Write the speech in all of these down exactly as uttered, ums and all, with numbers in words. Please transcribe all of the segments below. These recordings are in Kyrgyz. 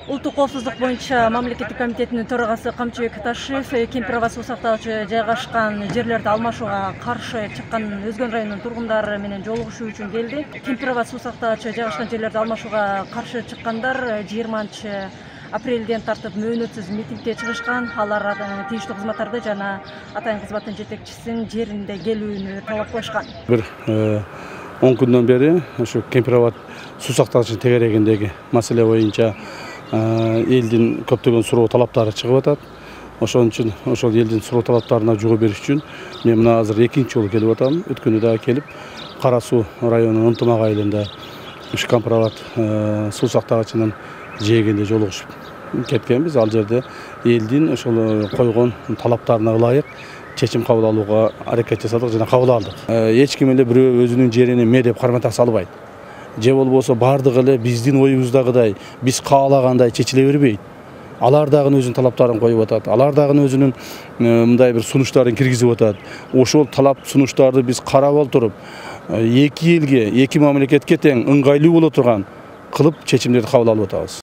Улуттук коопсуздук боюнча мамлекеттик комитетинин төрагасы Камчыбек Ташиев Кемпирова суу сактагычы жайгашкан жерлерди алмашууга каршы чыккан Өзгөн районунун тургундары менен жолугушуу үчүн келди. Кемпирова суу сактагычы жайгашкан жерлерди алмашууга каршы чыккандар жыйырманчы апрелден тартып мөөнөтсүз митингге чыгышкан. Алар тийиштүү кызматтарды жана атайын кызматтын жетекчисинин жеринде келүүнү талап коюшкан. Бир он күндөн бери ушу Кемпирова суу сактагычынын тегерегиндеги маселе боюнча элдин көптөгөн суроо талаптары чыгып атат. Ошон үчүн ошол элдин суроо талаптарына жоо бериш үчүн мен мына азыр экинчи жолу келип атам. Өткөндө дагы келип Кара суу районунун Ынтымак айылында ушу Кемпирова суу сактагычынын жээгинде жолугушуп кеткенбиз. Ал жерде элдин ошол койгон талаптарына ылайык чечим кабыл алууга аракет жасадык жана кабыл алдык. Эч ким эле бирөө өзүнүн жерин эмне деп кармата салбайт. Же болбосо бардыгы эле биздин оюбуздагыдай биз каалагандай чечиле бербейт. Алар дагы өзүнүн талаптарын коюп атат. Алар дагы өзүнүн мындай бир сунуштарын киргизип атат. Ошол талап сунуштарды биз карап олтуруп, эки элге, эки мамлекетке тең ыңгайлуу боло турган кылып чечимдерди кабыл алып атабыз.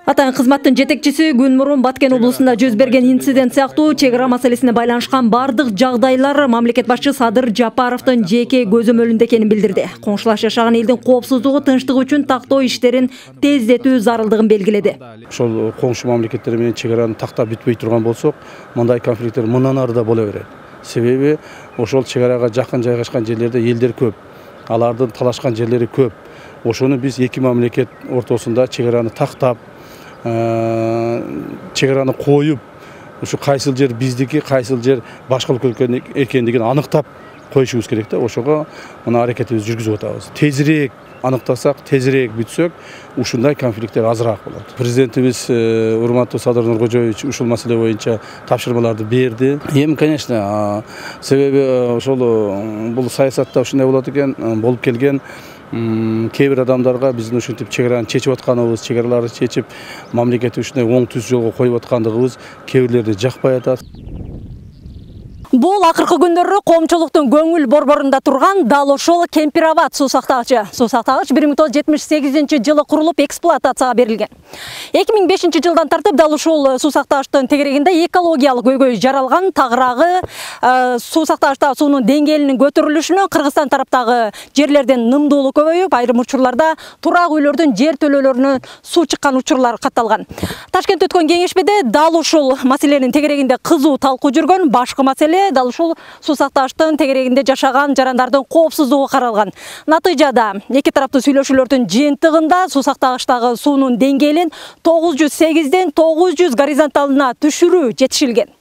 Атайын кызматтын жетекчиси күн мурун Баткен облусунда жүз берген инцидент сыяктуу чек ара маселесине байланышкан бардык жагдайлар мамлекет башчы Садыр Жапаровдун жеке көзөмөлүндө экенин билдирди. Коңшулаш жашаган элдин коопсуздугу, тынчтыгы үчүн тактоо иштерин тездетүү зарылдыгын белгиледи. Ошол коңшу мамлекеттер менен чек араны тактап бүтпөй турган болсок, мындай конфликттер мындан ары да боло берет. Себеби ошол чек арага жакын жайгашкан жерлерде элдер көп. Алардын талашкан жерлери көп. Ошону биз эки мамлекет ортосунда чек араны тактап, чек араны коюп, ушу кайсыл жер биздики, кайсыл жер башка өлкөнүн экендигин аныктап коюшубуз керек да. Ошого мына аракетибизди жүргүзүп атабыз. Тезирээк аныктасак, тезирээк бүтсөк, ушундай конфликттер азыраак болот. Президентибиз урматтуу Садыр Нуркожоевич ушул маселе боюнча тапшырмаларды берди. Эми, конечно, себеби ошол бул саясатта ушундай болот экен, болуп келген. Кээ бир адамдарга биздин ушинтип чек араны чечип атканыбыз, чек араларды чечип, мамлекетти ушундай оң түз жолго коюп аткандыгыбыз кээ бирлерди жакпай атат. Бул акыркы күндөрү коомчулуктун көңүл борборунда турган дал ошол Кемпирова суу сактагычы. Суу сактагыч бир миң тогуз жүз жетимиш сегизинчи жылы курулуп эксплуатацияга берилген. эки миң бешинчи жылдан тартып дал ушул суу сактагычтын тегерегинде экологиялык көйгөй жаралган. Тагыраагы суу сактагычтагы суунун деңгээлинин көтөрүлүшүнө Кыргызстан тараптагы жерлерден нымдуулук көбөйүп, айрым учурларда турак үйлөрдүн жер төлөөлөрүнө суу чыккан учурлар катталган. Ташкентте өткөн кеңешмеде дал ушул маселенин тегерегинде кызуу талкуу жүргөн. Башкы маселе дал ушул суу сактагычтын тегерегинде жашаган жарандардын коопсуздугу каралган. Натыйжада эки тараптуу сүйлөшүүлөрдүн жыйынтыгында суу сактагычтагы суунун деңгээлин тогуз жүз сегизден тогуз жүз горизонталына түшүрүү жетишилген.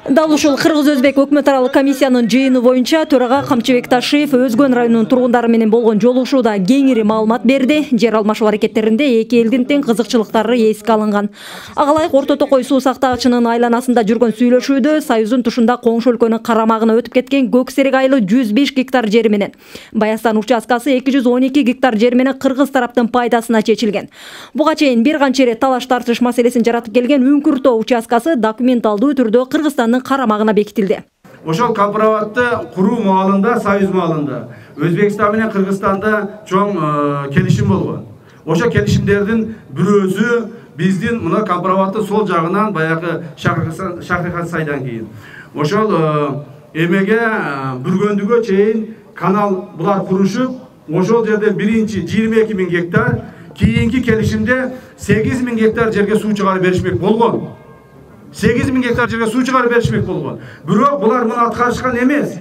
Дал ушул Кыргыз-Өзбек өкмөт аралык комиссиянын жыйыны боюнча төрага Камчыбек Ташиев Өзгөн районунун тургундары менен болгон жолугушууда кеңири маалымат берди. Жер алмашуу аракеттеринде эки элдин тең кызыкчылыктары эске алынган. Ага ылайык Орто Токой суу сактагычынын айланасында жүргөн сүйлөшүүдө Союздун тушунда коңшу өлкөнүн карамагына өтүп кеткен Көксерек айылы жүз беш гектар жери менен Баястан участкасы эки жүз он эки гектар жери менен кыргыз тараптын пайдасына чечилген. Буга чейин бир канча ирет талаш тартыш маселесин жаратып келген Үңкүр Тоо участкасы документалдуу түрдө Кыргызстандын карамагына бекитилди. Ошол Кемпироватты куруу маалында, союз маалында Өзбекстан менен Кыргызстанда чоң келишим болгон. Ошол келишимдердин бирөөсү биздин мына Кемпироваттын сол жагынан баягы Шахрихан сайдан кийин. Ошол эмеге Бүргөндүгө чейин канал булар курушуп, ошол жерде биринчи жыйырма эки миң гектар, кийинки келишимде сегиз миң гектар жерге суу чыгарып беришмек болгон. сегиз миң гектар жерге суу чыгарып беришмек болгон. Бирок булар муну аткарышкан эмес.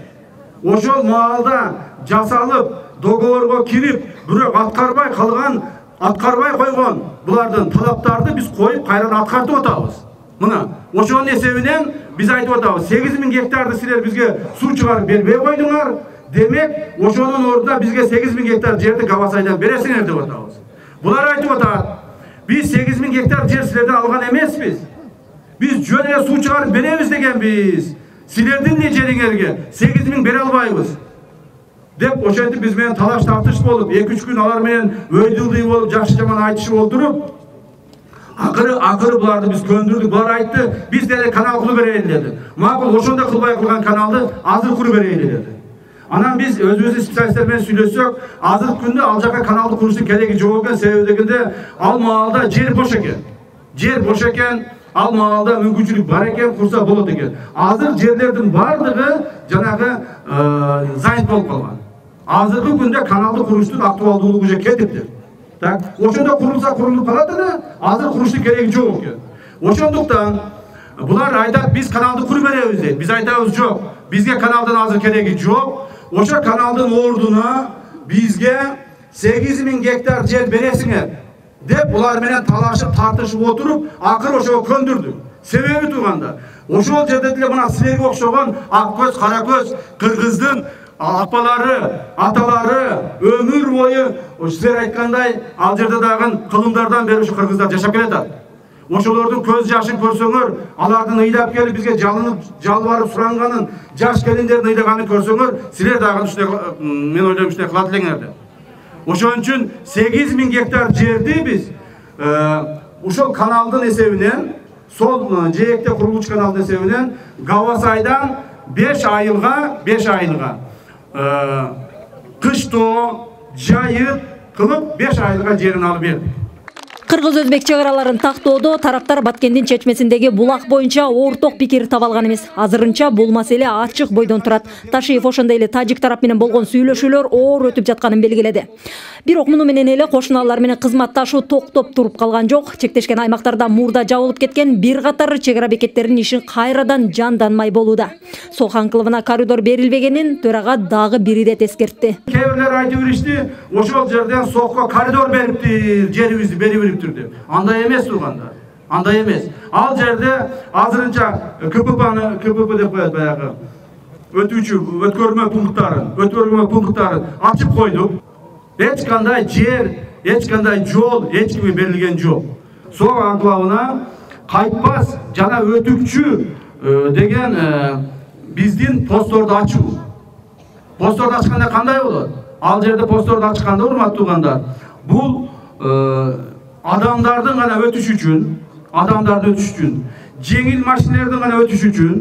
Ошол маалда жасалып, договорго кирип, бирок аткарбай калган, аткарбай койгон булардын талаптарды биз коюп кайрадан аткартып атабыз. Мына, ошонун эсебинен биз айтып атабыз, сегиз миң гектарды силер бизге суу чыгарып бербей койдуңар, демек, ошонун ордуна бизге сегиз миң гектар жерди Габасайдан бересиңер деп атабыз. Булар айтып атат, биз сегиз миң гектар жер силерден алган эмеспиз. Biz жөн эле суу чыгарып беребиз дегенбиз. Силердин не жериңерге сегиз миң бере албайбыз деп ошентип биз менен талаш тартыш болуп, эки үч күн алар менен өйдүлдүй болуп, жакшы жаман айтышып олтуруп, акыры акыры буларды биз көндүрдүк. Булар айтты, биз деле канал кылып берели деди. Макул, ошондой кылбай кылган каналды азыр куруп берели деди. Анан биз өзүбүздүн специалисттер менен сүйлөшсөк, азыркы күндө ал жака каналды куруштун кереги жок экен, себеби дегенде ал маалда жер бош экен. Жер бош экен, ал маалда мүмкүнчүлүк бар экен, курса болот экен. Азыр жерлердин бардыгы жанагы занят болуп калган. Азыркы күндө каналды куруштун актуалдуулугу же кетиптир. Так, ошондо курулса курулуп калат эле, азыр куруштун кереги жок экен. Ошондуктан булар айтат, биз каналды куруп беребиз дейт. Биз айтабыз, жок. Бизге каналдын азыр кереги жок. Ошо каналдын ордуна бизге сегиз миң гектар жер бересиңер деп булар менен талашып, тартышып отуруп, акыр ошого көндүрдүк. Себеби турганда, ошол жерде деле мына силерге окшогон ак көз, кара көз кыргыздын апалары, аталары өмүр бою силер айткандай ал жерде дагы кылымдардан бери ушу кыргыздар жашап келатат. Ошолордун көз жашын көрсөңөр, алардын ыйдап келип бизге жалынып, жалбарып суранганын, жаш келиндердин ыйдаганын көрсөңөр, силер дагы ушундай, мен ойлойм, ушундай кылат элеңер деп. Ошон үчүн сегиз миң гектар жерди биз ушул каналдын эсебинен, сол жээкте курулуучу каналдын эсебинен Гавасайдан беш айылга, беш айылга кыштоо, жайыт кылып беш айылга жерин алып бердик. Кыргыз-өзбек чек араларын тактоодо тараптар Баткендин чечмесиндеги булак боюнча орток пикир таба алган эмес. Азырынча бул маселе ачык бойдон турат. Ташиев ошондой эле тажик тарап менен болгон сүйлөшүүлөр оор өтүп жатканын белгиледи. Бирок муну менен эле кошуналар менен кызматташуу токтоп туруп калган жок. Чектешкен аймактарда мурда жабылып кеткен бир катар чек ара бекеттеринин ишин кайрадан жанданмай болууда. Солхан кылыбына коридор берилбегенин төрага дагы бири ирет эскертти. Кээ бирлер айтып беришти, ошол жерден сокко коридор бериптир, жерибизди берип деп. Андай эмес турганда. Андай эмес. Ал жерде азырынча КППны, КПП деп коет баягы. Өтүүчү өткөрмө пункттарын, өткөрмө пункттарын ачып койдук. Эч кандай жер, эч кандай жол эч кимге берилген жок. Сол анклавына кайтпас жана өтүкчү деген биздин постторду ачуу. Постторду ачканда кандай болот? Ал жерде постторду ачканда, урматтуу туугандар, бул адамдардын гана өтүш үчүн, адамдардын өтүш үчүн, жеңил машиналердин гана өтүш үчүн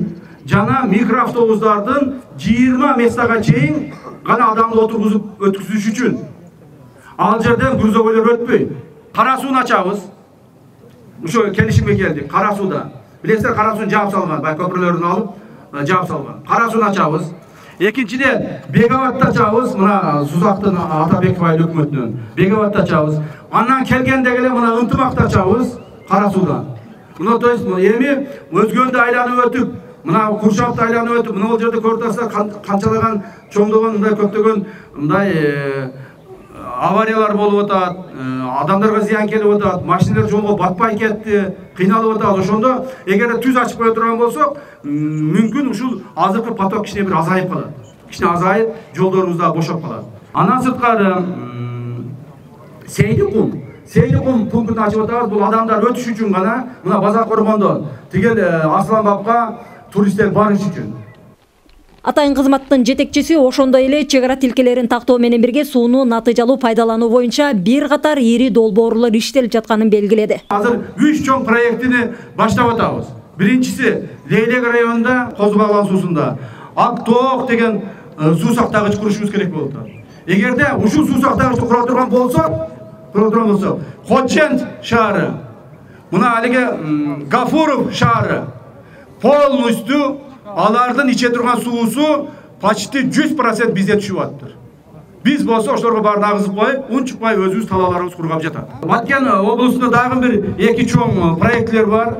жана микроавтобустардын жыйырма местага чейин гана адамды отургузуп өткүзүш үчүн. Ал жерден грузовойлор өтпөйт. Кара сууну ачабыз. Ошо келишимге келдик. Кара сууда. Билесиздер, кара сууну жаап салган, бай көпүрлөрүн алып жаап салган. Кара сууну ачабыз. Экинчиден, Беговатты ачабыз, мына Сузактын Атабеков айыл өкмөтүнөн. Беговатты ачабыз. Андан келгенде эле мына Ынтымакты ачабыз, кара суудан. Мына то есть эми өзгөндү айланып өтүп, мына Куршавтты айланып өтүп, мына бул жерде көрүп атасыздар, канчалаган чоңдогон мындай көптөгөн мындай авариялар болуп атат, адамдарга зыян келип атат, машиналар жолго батпай кетти, кыйналып атат. Ошондо эгер түз ачып кое турган болсок, мүмкүн ушул азыркы поток кичине бир азайып калат. Кичине азайып, жолдорубуз да бошоп калат. Андан сырткары Сейдикум, Сейдикум пунктун ачып атабыз. Бул адамдар өтүш үчүн гана, мына Базар Коргондон тигел Асланбапка туристтер барыш үчүн. Атайын кызматтын жетекчиси ошондой эле чек ара тилкелерин тактоо менен бирге сууну натыйжалуу пайдалануу боюнча бир катар ири долбоорлор иштелип жатканын белгиледи. Азыр үч чоң проектини баштап атабыз. Биринчиси Лейлек районунда Козу Баглан суусунда Актоок деген суу сактагыч курушубуз керек болуп атат. Эгерде ушул суу сактагычты кура турган болсок, кура турган болсок, Хочент шаары, мына алиге Гафуров шаары полностью алардын иче турган суусу почти жүз процент бизде түшүп атыптыр. Биз болсо ошолорго баарын агызып коюп, унчукпай өзүбүз талааларыбыз кургап жатат. Баткен облусунда дагы бир эки чоң проектлер бар.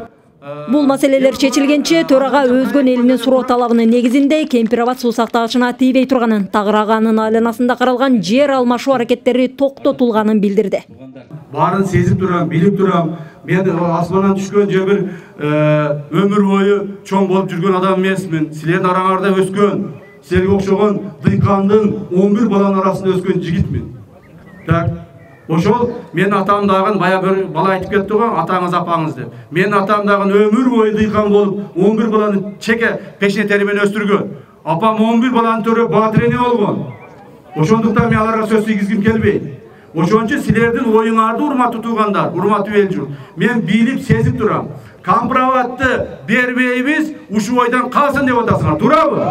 Бул маселелер чечилгенче төрага өзгөн элинин суроо талабынын негизинде Кемпирабад суу сактагычына тийбей турганын, Тагыраганын айланасында каралган жер алмашуу аракеттери токтотулганын билдирди. Баарын сезип турам, билип турам. Мен асмандан түшкөн же бир өмүр бою чоң болуп жүргөн адам эмесмин. Силердин араңарда өскөн, силерге окшогон дыйкандын он бир баланын арасында өскөн жигитмин. Так, ошол менин атам дагы бая бир бала айтып кетти го, атаңыз апаңыз деп. Менин атам дагы өмүр бою дыйкан болуп, он бир баланы чеке пешне тери менен өстүргөн. Апам он бир баланы төрөп баатыр эне болгон. Ошондуктан мен аларга сөз тийгизгим келбейт. Ошон үчүн силердин оюңарды, урматтуу туугандар, урматтуу эл журт, мен билип, сезип турам. Кампирабадты бербейбиз, ушул ойдан калсын деп атасыңар. Туурабы?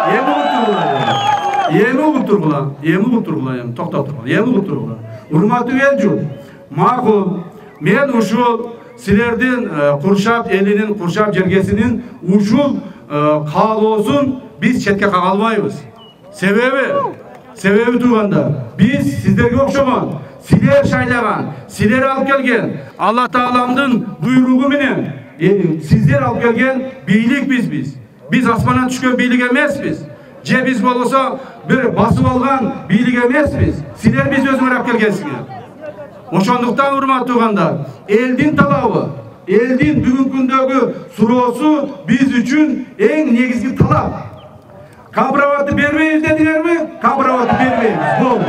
Эми угуп тургула. Эми угуп тургула. Эми угуп тургула. Эми токтоп тургула. Эми угуп тургула. Урматтуу эл журт. Макул. Мен ушул силердин Куршап элинин, Куршап жергесинин ушул каалоосун биз четке кага албайбыз. Себеби, себеби тууганда биз сиздерге окшогон, силер шайлаган, силер алып келген Алла Тааламдын буйругу менен сиздер алып келген бийлик биз биз. Биз асмандан түшкөн бийлик эмеспиз. Же биз болсо бир басып алган бийлик эмеспиз. Силер биз өзүңөр алып келгенсиңер. Ошондуктан урматтуу туугандар, элдин талабы, элдин бүгүнкү күндөгү суроосу биз үчүн эң негизги талап. Кампроватты бербейбиз дедиңерби? Кампроватты бербейбиз. Болду.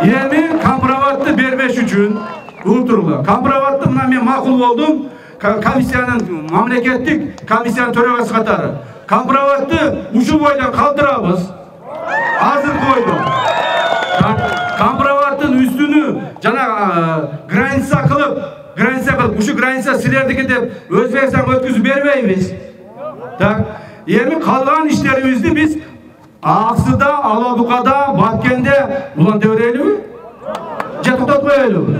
Эми кампроватты бербеш үчүн угуп туруңар. Кампроватты мына мен макул болдум. Комиссиянын, мамлекеттик комиссиянын төрагасы катары. Кампроватты ушул бойдон калтырабыз. Азыр койдум. Кампроваттын үстүнү жана граница кылып, граница кылып, ушу граница силердики деп Өзбекстанга өткүзүп бербейбиз. Так, эми калган иштерибизди биз Аксыда, Алабукада, Баткенде улантып берелиби? Же токтотуп коелуби?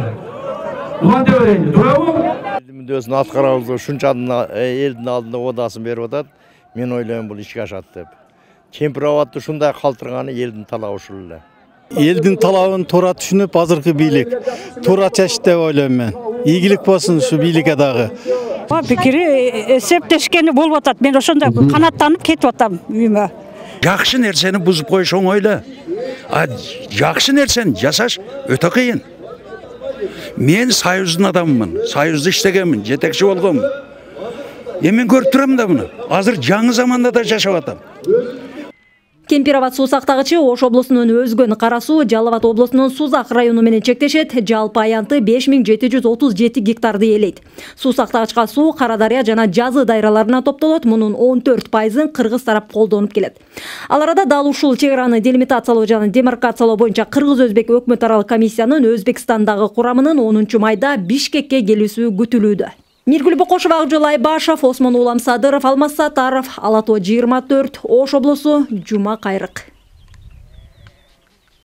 Улантып берели, туурабы? Элдин мүддөсүн аткарабыз, ушунча элдин алдында одасын берип атат. Мен ойлойм бул ишке ашат деп. Кемпироватты ушундай калтырганы элдин талабы ушул эле. Элдин талабын туура түшүнүп, азыркы бийлик туура чечти деп ойлойм мен. Ийгилик болсун ушу бийликке дагы. Пикири эсептешкени болуп атат. Мен ошондой канаттанып кетип атам үйүмө. Жакшы нерсени бузуп коюш оңой эле. А жакшы нерсени жасаш өтө кыйын. Мен Союздун адаммын, Союзда иштегенмин, жетекчи болгонмун. Эми көрүп турам да муну. Азыр жаңы заманда да жашап атам. Кемпироват суу сактагычы Ош облусунун өзгөн Кара суу Жалал Абад облусунун Сузак району менен чектешет. Жалпы аянты беш миң жети жүз отуз жети гектарды ээлейт. Суу сактагычка суу Кара Дарыя жана Жазы дайраларына топтолот. Мунун он төрт пайызын кыргыз тарап колдонуп келет. Ал арада дал ушул чек араны делимитациялоо жана демаркациялоо боюнча кыргыз-өзбек өкмөт аралык комиссиянын Өзбекстандагы курамынын онунчу майда Бишкекке келүүсү күтүлүүдө. Миргүл Бокошова, Акжол Айбашев, Осмон Улам Садыров, Алмаз Сатаров, Ала Тоо жыйырма төрт, Ош облусу, Жума Кайрык.